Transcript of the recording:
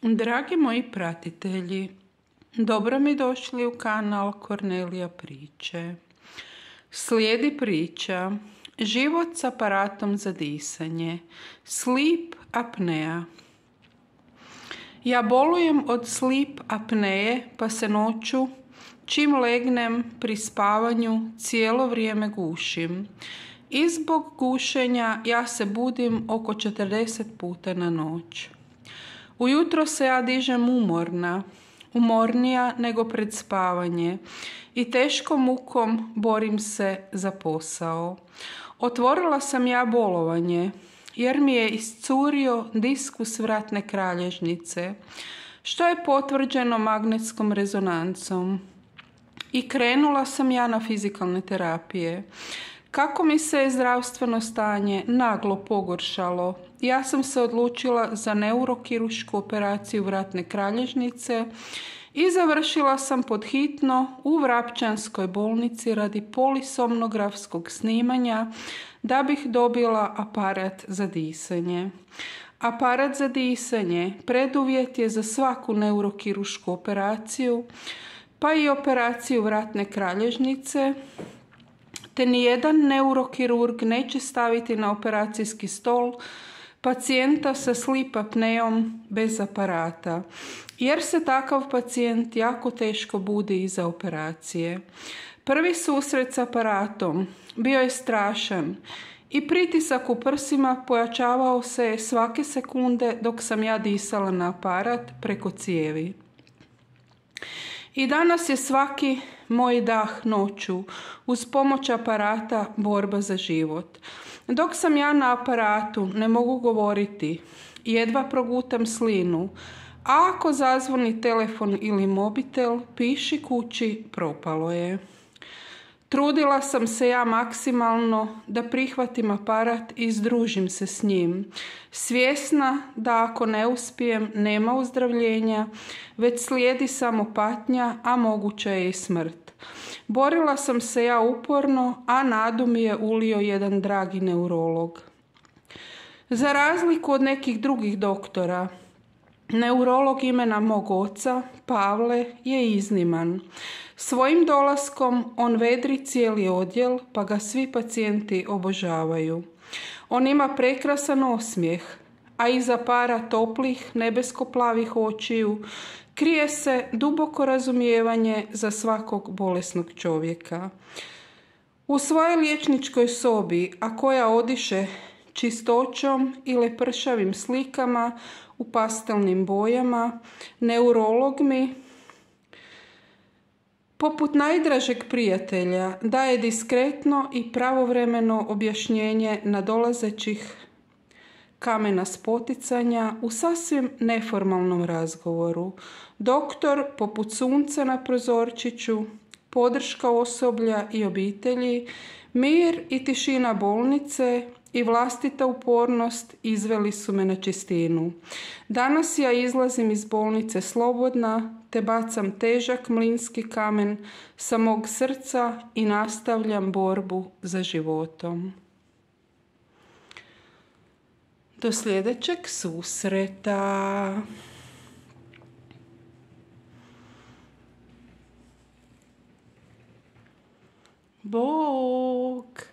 Dragi moji pratitelji, dobro mi došli u kanal Kornelija priče. Slijedi priča Život s aparatom za disanje, sleep apnea. Ja bolujem od sleep apneje, pa se noću, čim legnem pri spavanju, cijelo vrijeme gušim. I zbog gušenja ja se budim oko 40 puta na noć. Ujutro se ja dižem umornija nego pred spavanje i teškom mukom borim se za posao. Otvorila sam ja bolovanje jer mi je iscurio diskus vratne kralježnice, što je potvrđeno magnetskom rezonancom. I krenula sam ja na fizikalne terapije. Kako mi se je zdravstveno stanje naglo pogoršalo, ja sam se odlučila za neurokirušku operaciju vratne kralježnice i završila sam pod hitno u Vrapčanskoj bolnici radi polisomnografskog snimanja da bih dobila aparat za disanje. Aparat za disanje preduvjet je za svaku neurokirušku operaciju, pa i operaciju vratne kralježnice, te nijedan neurokirurg neće staviti na operacijski stol pacijenta sa sleep apneom bez aparata, jer se takav pacijent jako teško budi iza operacije. Prvi susret s aparatom bio je strašan i pritisak u prsima pojačavao se svake sekunde dok sam ja disala na aparat preko cijevi. I danas je svaki moj dah noću uz pomoć aparata borba za život. Dok sam ja na aparatu ne mogu govoriti, jedva progutam slinu, a ako zazvoni telefon ili mobitel, piši kući, propalo je. Trudila sam se ja maksimalno da prihvatim aparat i združim se s njim, svjesna da ako ne uspijem nema uzdravljenja, već slijedi samo patnja, a moguća je i smrt. Borila sam se ja uporno, a nadu mi je ulio jedan dragi neurolog. Za razliku od nekih drugih doktora, neurolog imena mog oca, Pavle, je izniman. Svojim dolaskom on vedri cijeli odjel, pa ga svi pacijenti obožavaju. On ima prekrasan osmijeh, a iza para toplih, nebesko-plavih očiju krije se duboko razumijevanje za svakog bolesnog čovjeka. U svojoj liječničkoj sobi, a koja odiše čistoćom i lepršavim slikama u pastelnim bojama, neurolog mi, poput najdražeg prijatelja, daje diskretno i pravovremeno objašnjenje nadolazećih kamena spoticanja u sasvim neformalnom razgovoru. Doktor, poput sunca na prozorčiću, podrška osoblja i obitelji, mir i tišina bolnice i vlastita upornost izveli su me na čistinu. Danas ja izlazim iz bolnice slobodna, te bacam težak mlinski kamen sa mog srca i nastavljam borbu za životom. Do sljedećeg susreta. Bog.